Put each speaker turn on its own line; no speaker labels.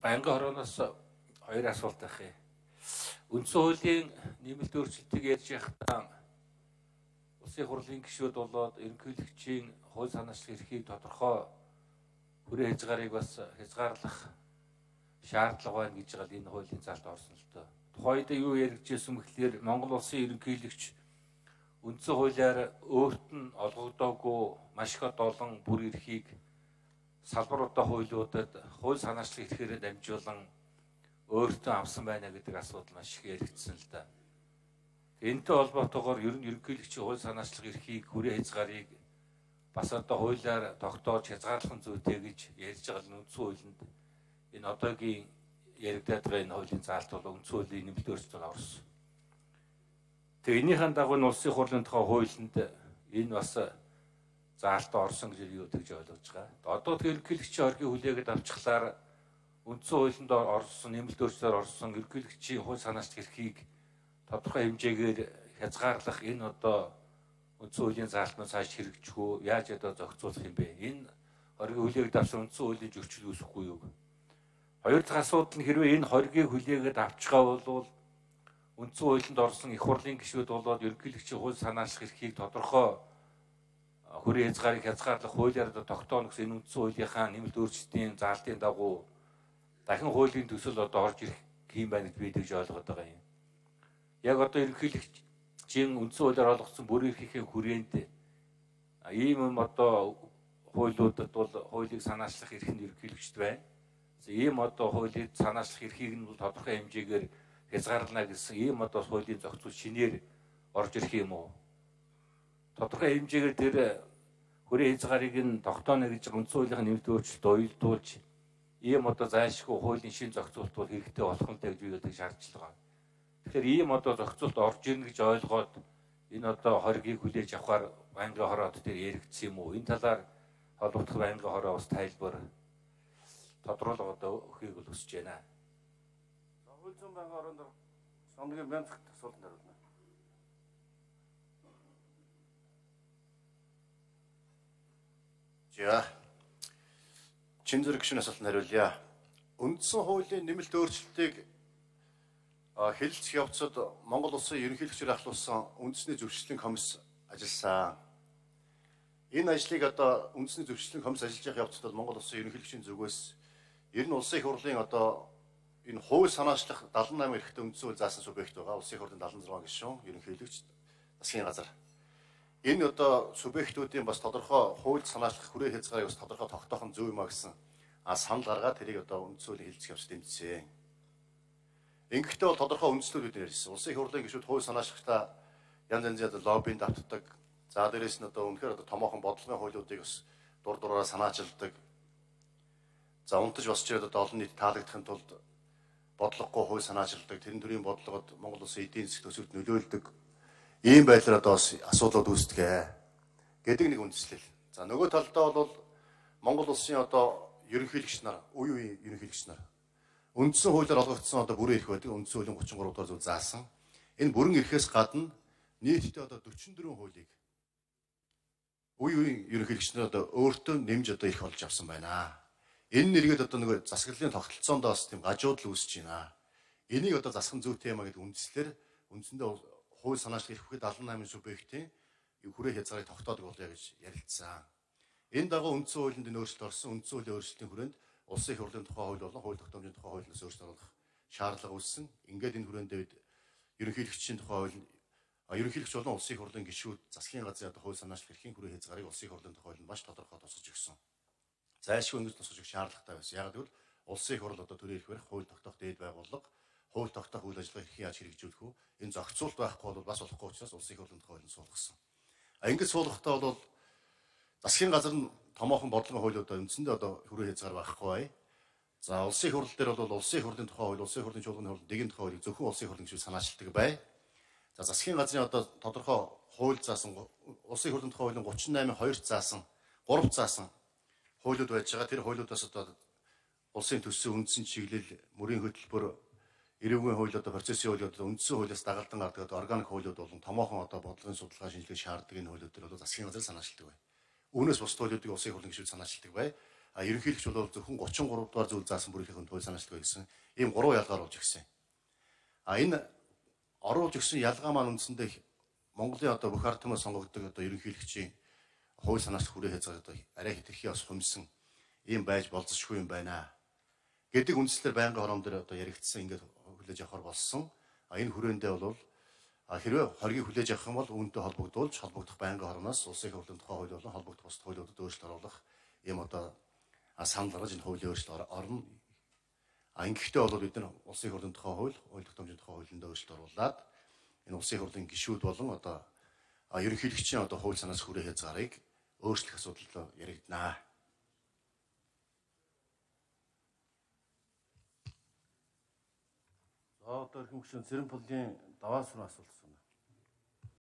Байнгын хорооноос хоёр асуулт байх юм. Үндсэн хуулийн нэмэлт өөрчлөлтийг ярьж байхдаа улсын хурлын гишүүд болоод ерөнхийлөгчийн хууль санаачлах эрхийг тодорхой хүрээ хязгаарыг бас хязгаарлах шаардлага байна гэж байгаа энэ хуулийн заалт орсон л доо. Тухайд юу яригдчихсэн мэхлээр Монгол улсын ерөнхийлөгч үндсэн хуулиар өөрт нь олгогдоогүй маш их олон бүр эрхийг салбаруудаа хуулиудад хууль санаачлах эрхээрээ дамжуулан өөртөө авсан байна гэдэг асуудал маш их яригдсан л да. Энэтэй холбоотойгоор ер нь ерөнхийлөгчийн хууль санаачлах эрхийг хүрээ хязгаарыг бас одоо хуулиар тогтоож хязгаарлах зүйтэй гэж ярьж байгаа нь үндсэн хуулинд энэ одоогийн яригдаад байгаа энэ хуулийн заалт бол үндсэн хуулийн нэмэлт өөрчлөлт орсон. Тэгээ энийхэн дагуу нь улсын хурлын тухай хуулинд энэ бас заалт орсон гэж юу гэж ойлгож байгаа. Одоо тэр ерөнхийлөгчийн оргийн хүлээгээд авчихлаар үндсэн хуулинд орсон нэмэлт өөрчлөлтөөр орсон ерөнхийлөгчийн хууль санаачлах эрхийг тодорхой хэмжээгээр хязгаарлах энэ одоо үндсэн хуулийн заалтнаас цааш хэрэгжихгүй яаж одоо зохицуулах юм бэ? Энэ оргийн хүлээгээд авсан үндсэн хуулийн зөрчил үүсэхгүй юу? Хоёр дахь асуудал нь хэрвээ энэ хоргийг хүлээгээд авчихгаа бол үндсэн хуулинд орсон их хурлын гишүүд болоод ерөнхийлөгчийн хууль санаачлах эрхийг тодорхой хүрээ хязгаарыг хязгаарлах хуулиар тогтооно гэсэн энэ үндсэн хуулийнхаа нэмэлт өөрчлөлтийн заалтын дагуу дахин хуулийн төсөл одоо орж ирэх юм байна гэж би тэгж ойлгоод байгаа юм. Яг одоо ерөнхийлөгчийн үндсэн хуулиар олгосон бүр эрхийн хүрээнд ийм юм одоо хуулиудад бол хуулийг санаачлах эрх нь ерөнхийлөгчд байна. Ийм одоо хуулийг санаачлах эрхийг нь тодорхой хэмжээгээр хязгаарлана гэсэн ийм одоо хуулийн зохицол шинээр орж ирэх юм уу? Тодорхой хэмжээгээр тэр хүрээ хязгаарыг нь тогтооно гэж үндсэн хуулийнхаа нэмэлт өөрчлөлт уялдуулж ийм одоо зайлшгүй хуулийн шин зохицуулт бол хэрэгтэй болох нь гэж би одоо шаардлагатай байна. Тэгэхээр ийм одоо зохицуулт орж ирнэ гэж ойлгоод энэ одоо хоргийг хүлээж авахар байнгын хороод дээр яригдсан юм уу? Энэ талаар холбогдох байнгын хороо бас тайлбар тодруулга одоо өгөхийг л хүсэж байна.
Хууль зүйн байнгын хороонд сонгогийн бянцх асуулт хариулна. За чин зэрэг гүшүүн асуултанд хариулъя. Үндсэн хуулийн нэмэлт өөрчлөлтийг хэлэлцэх явцад Монгол улсын ерөнхийлөгчөөр ахлуулсан үндэсний зөвшөөрлөлийн комисс ажилласан. Энэ ажлыг одоо үндэсний зөвшөөрлөлийн комисс ажиллаж явах явцад Монгол улсын ерөнхийлөгчийн зүгээс ер нь улсын их хурлын одоо энэ хууль санаачлах 78 эрхтэй үндсэн хууль заасан субъект байгаа. Улсын их хурлын 76 гишүүн ерөнхийлөгч засгийн газар. Энэ одоо субъектүүдийн бас тодорхой хууль санаачлах хүрээ хязгаарыг бас тодорхой тогтоох нь зөв юм а гэсэн санал гаргаад тэрийг одоо үндсэн хуулийн хэлэлцэх явц тэмцсэн. Ингэхдээ бол тодорхой үндслүүд ярьсан. Улсын их хурлын гишүүд хууль санаачлахтаа янз янзын лоббинд автдаг. За дээрээс нь одоо үнэхээр одоо томоохон бодлогын хуулиудыг бас дур дураараа санаачилдаг. За унтаж босч ирээд одоо олон нийт таалагдахын тулд бодлогогүй хууль санаачилдаг. Тэрэн төрлийн бодлогод Монгол улсын эдийн засгийн төсөвт нөлөөлдөг. Ийм байдлаар одоо асуудлууд үүсдэг гэдэг нэг үндслэл. За нөгөө талдаа бол Монгол улсын одоо ерөнхийлөгч нар, үе үеийн ерөнхийлөгч нар үндсэн хуулиар олгогдсон одоо бүрэн эрх байдаг. Үндсэн хуулийн 33 дугаар зүйл заасан. Энэ бүрэн эрхээс гадна нийтдээ одоо 44 хуулийг үе үеийн ерөнхийлөгч нар одоо өөртөө нэмж одоо эрх олж авсан байна. Энэ нэргээд одоо нөгөө засаглалын тогтолцоонд бас тийм гажуудал үүсэж байна. Энийг одоо засах зүйтэй юм а гэдэг үндслээр үндсэндээ хууль санаачлах эрх бүхэд 78 субъектийн хүрээ хязгаарыг тогтоодог болъё гэж ярилцсан. Энэ дагуу үндсэн хуулинд өөрчлөлт орсон. Үндсэн хуулийн өөрчлөлтийн хүрээнд улсын их хурлын тухай хууль болон хууль тогтоомжийн тухай хуулиас өөрчлөлт оруулах шаардлага үүссэн. Ингээд энэ хүрээнд дэвд ерөнхийлөгчийн тухай хууль ерөнхийлөгч болон улсын их хурлын гишүүд засгийн газрын одоо хууль санаачлах эрхийн хүрээ хязгаарыг улсын их хурлын тухай хуулинд маш тодорхой тусгаж өгсөн. Зайлшгүй ингэж тусгаж өгөх шаардлагатай байсан. Яг гэвэл улсын их хурл одоо төрийн эрх барих, хууль тогтоох дээд байгууллага, хууль тогтоох үйл ажиллагаа эрхийг яаж хэрэгжүүлэх вэ? Энэ зохицуулт байхгүй бол бас болохгүй учраас улсын их хурлын тухай хуулийг суулгасан. Ингэж суулгахдаа бол засгийн газар нь томоохон бодлогын хуулиудаа үндсэндээ одоо хүрээ хязгаар байхгүй бай. За улсын их хурл дээр бол улсын их хурлын тухай хууль, улсын их хурлын чуулганы хууль, дэгийн тухай хуулийг зөвхөн улсын их хурлын гишүүд санаачилдаг бай. За засгийн газрын одоо тодорхой хууль заасан улсын их хурлын тухай хуулийн 38-2 заасан, 3 заасан хуулиуд байж байгаа. Тэр хуулиудаас одоо улсын төссөн үндсэн чиглэл, мөрийн хөтөлбөр, эрүүгийн хууль одоо процессын хуулиуд үндсэн хуулиас дагалдан гардаг одоо органик хуулиуд болон томоохон одоо бодлогын судалгаа шинжилгээ шаарддаг энэ хуулиуд төр бол засгийн газар санаачилдаг бай. Үүнээс бус хуулиудыг улсын их хурлын гишүүд санаачилдаг бай. ерөнхийлөгч бол зөвхөн 33 дугаар зүйл заасан бүрийнхээ хууль санаачлалгүй гэсэн ийм 3 ялгаар болж ирсэн. Энэ оруулж өгсөн ялгаа маань үндсэндээ Монголын одоо бүх ард түмэн сонгогддог одоо ерөнхийлөгчийн хууль санаачлал хүрээ хязгаар одоо арай хэтэрхий бас хүмсэн ийм байж болзошгүй юм байна гэдэг үндслээр байнгын хором дээр одоо яригдсан ингээд хүлээж авахар болсон. Энэ хүрээндээ бол хэрвээ хоргийг хүлээж авах юм бол үүнтэй холбогдуулж холбогдох байнгын хороноос улсын их хурлын тухай хууль болон холбогдох бус хуулиудад өөрчлөлт оруулах ийм одоо санал гаргаж энэ хуулийн өөрчлөлт орно. Ингэхдээ бол бид нар улсын их хурлын тухай хууль, хууль тогтоомжийн тухай хуулинд өөрчлөлт оруулаад энэ улсын их хурлын гишүүд болон одоо ерөнхийлөгчийн одоо хууль санаас хүрээ хязгаарыг өөрчлөх асуудал яригдана. За одоо эрхэм гишүүн Цэрэн пулын даваас руу асуулт.